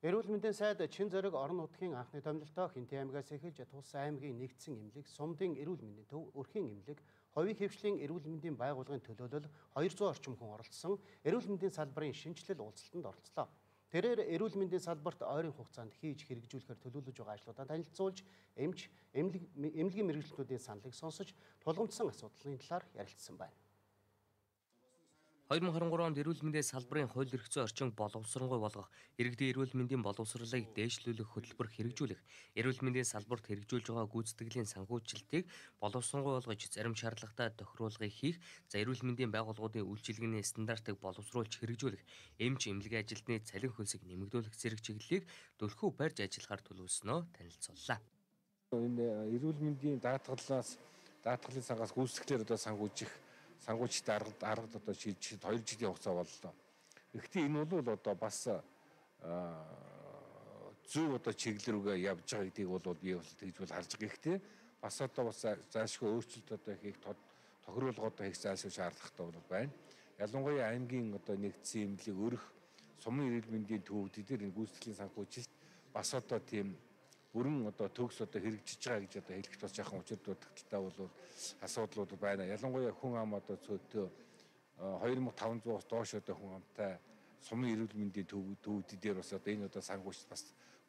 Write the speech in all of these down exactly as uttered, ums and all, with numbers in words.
Эрүүл мэндийн сайд Чин зориг орон нутгийн анхны томилолтоо Хинтээ аймгаас эхэлж Тус аймгийн нэгдсэн эмнэлэг, Сумдын эрүүл мэндийн төв, Өрхийн эмнэлэг, Ховийн хэвшлийн эрүүл мэндийн байгууллагын төлөөлөл хоёрдугаар орчим хүн оролцсон эрүүл мэндийн салбарын шинжилэл уулзалтанд оролцлоо. Тэрээр эрүүл мэндийн салбарт ойрын хугацаанд хийж хэрэгжүүлэхээр төлөвлөж байгаа ажлуудаа танилцуулж, эмч, эмнэлгийн мэргэжилтнүүдийн саналыг сонсож, тулгамдсан асуудлын талаар ярилцсан байна. хоёр мың харин гурав онд эрүүл мэндийн салбарын хууль эрх зүйн орчин боловсронгуй болгох, иргэдийн эрүүл мэндийн боловсролыг дээшлүүлэх хөтөлбөр хэрэгжүүлэх, эрүүл мэндийн салбарт хэрэгжүүлж байгаа гүйцэтгэлийн санхүүжилтийг боловсронгуй болгож зарим шаардлагатай тохируулгыг хийх, за эрүүл мэндийн байгууллагуудын үйлчилгээний стандартыг боловсруулж хэрэгжүүлэх, эмч эмнэлгийн ажилтны цалин хөлсийг нэмэгдүүлэх зэрэг чиглэлийг түлхүү барьж ажиллахаар төлөвлөснөө танилцууллаа. Энэ эрүүл мэндийн даатгалаас даатгалын сангаас гүйцэтгэлээр одоо санхүүжих сангуучтай арга арга одоо шийдэж хоёр жилийн хугацаа боллоо. Гэхдээ энэ бол одоо бас зөв одоо чиглэл рүүгээ явж байгаа гэдгийг бол би бол тэгж бол харж байгаа. Гэхдээ бас одоо бас заашгүй өөрчлөлт одоо хийх тохируулга одоо хийх заашгүй шаардлагатай бол байна. Ялангуяа аймгийн одоо нэгдсэн эмнэлэг өрх сумын эрүүл мэндийн төвүүд дээр энэ гүйцэтгэлийн санхүүжилт бас одоо тийм бүрэн одоо төгс одоо хэрэгжиж байгаа гэж одоо хэлэхэд бас жоохон учир дутагдaltaй бол асуудлууд байна. Ялангуяа хүн ам одоо цөөтөө хоёр мың таван зуус доош одоо хүн амтай сумын эрүүл мэндийн төвүүд дээр бас одоо энэ одоо санхүүжилт бас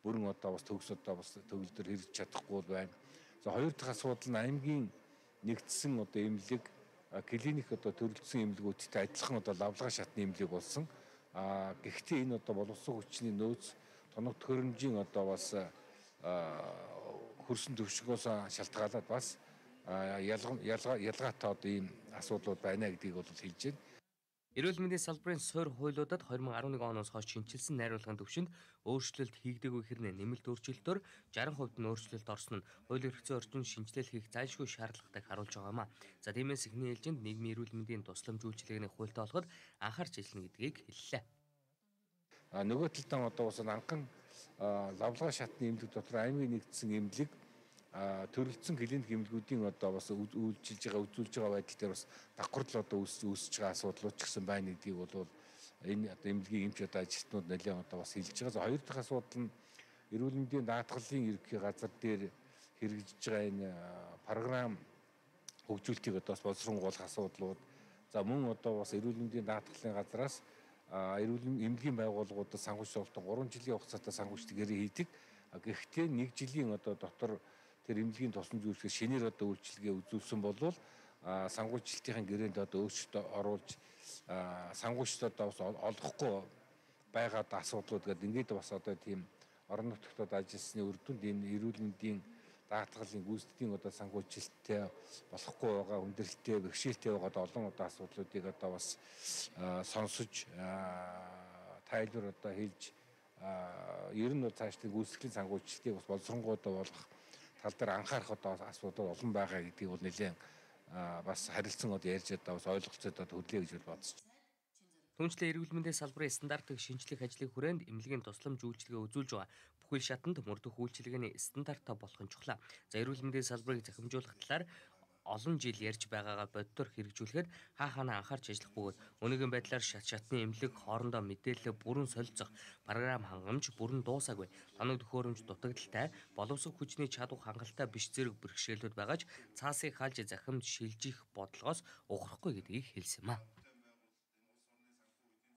бүрэн одоо бас төгс одоо бас төгөлдөр хэрэгжиж чадахгүй байна. За хоёр дахь асуудал нь аймгийн нэгдсэн одоо эмнэлэг клиник одоо төрөлдсөн эмнэлгүүдтэй адилхан одоо лавлгаа шатны эмнэлэг болсон. А гэхдээ энэ одоо боловсон хүчний нөөц тоног төхөөрөмжийн одоо бас хөрсөн төвшгөөс шалтгаалаад бас ялгаатай одоо ийм асуудлууд байна гэдгийг бол хэлж байна. Эрүүл мэндийн салбарын суурь хуулиудад хоёр мың арван нэг оноос хойш шинжилсэн найруулгын төвшөнд өөрчлөлт хийгдэггүй хэрнээ нэмэлт өөрчлөлтөөр шаран хувьд нь өөрчлөлт орсон нь хууль эрх зүйн орчинд шинжилэл хийх зайлшгүй шаардлагатайг харуулж байгаамаа. За тиймээс эхний ээлжинд нийгмийн эрүүл мэндийн туслам үйлчилгээний хуультай олоход анхаарч ажиллана гэдгийг хэллээ. А нөгөө талдаа одоо бас анхан лавлгаа шатны эмнэлэг дотор аймгийн нэгдсэн эмнэлэг төрөлдсөн клиник эмнэлгүүдийн одоо бас үйлчилж байгаа үзүүлж байгаа байдал дээр бас давхарлал одоо үүсэж байгаа асуудлууд ч гэсэн байна гэдгийг бол энэ одоо эмнэлгийн эмч одоо ажилтнууд нэлээд одоо бас хэлж байгаа. За хоёр дахь асуудал нь эрүүл мэндийн даатгалын ерөнхий газар дээр хэрэгжиж байгаа энэ програм хөгжүүлэлтийг одоо бас боловсронгуй болгох асуудлууд. За мөн одоо бас эрүүл мэндийн даатгалын газраас эрүүл эмнэлгийн байгууллагуудад санхүүжилт гурван жилийн хугацаатай санхүүжилт гэрээ хийдэг. Гэхдээ нэг жилийн одоо дотор тэр эмнэлгийн тусламж үйлчлэгээ шинээр одоо үйлчилгээ үзүүлсэн болвол санхүүжилтийн гэрээнд одоо өөрчлөлт оруулж санхүүжилт одоо бас олохгүй байгаа асуудлууд гэдэг ингээд бас одоо тийм орон нутгад ажилласны үр дүнд энэ эрүүл мэндийн даатгалын гүйцэтгэлийн одоо санхүүжилттэй болохгүй байгаа хүндрэлтэй бэрхшээлтэй байгаа олон одоо асуудлуудыг одоо бас сонсож тайлбар одоо хэлж ер нь цаашдын гүйцэтгэлийн санхүүжилтийг бас боловсронгуй одоо болгох тал дээр анхаарах одоо асуудал олон байгаа гэдгийг бол нэлээд бас харилцан одоо ярьж одоо бас ойлголцоод одоо хөдлөе гэж бодож байна. Түүнчлэн эрүүл мэндийн салбарын стандартыг шинжлэх ажлын хүрээнд эмнэлгийн тусламж үйлчилгээ үзүүлж байгаа бүхэл шатанд мөрдөх үйлчилгээний стандартаа болох нь чухлаа. За эрүүл мэндийн салбарыг захимжуулах талаар олон жил ярьж байгаагаа боддоор хэрэгжүүлэхэд хаа хаана анхаарч ажиллах бөгөөд өнөөгийн байдлаар шат шатны эмнэлэг хоорондоо мэдээлэл бүрэн солилцох, програм хангамж бүрэн дуусаагүй, тоног төхөөрөмж дутагдaltaй, боловсрол хүчний чадвар хангалттай биш зэрэг бэрхшээлүүд байгааж цаасыг хаалж захимд шилжих бодлогоос ухрахгүй гэдгийг хэлсэн юм а.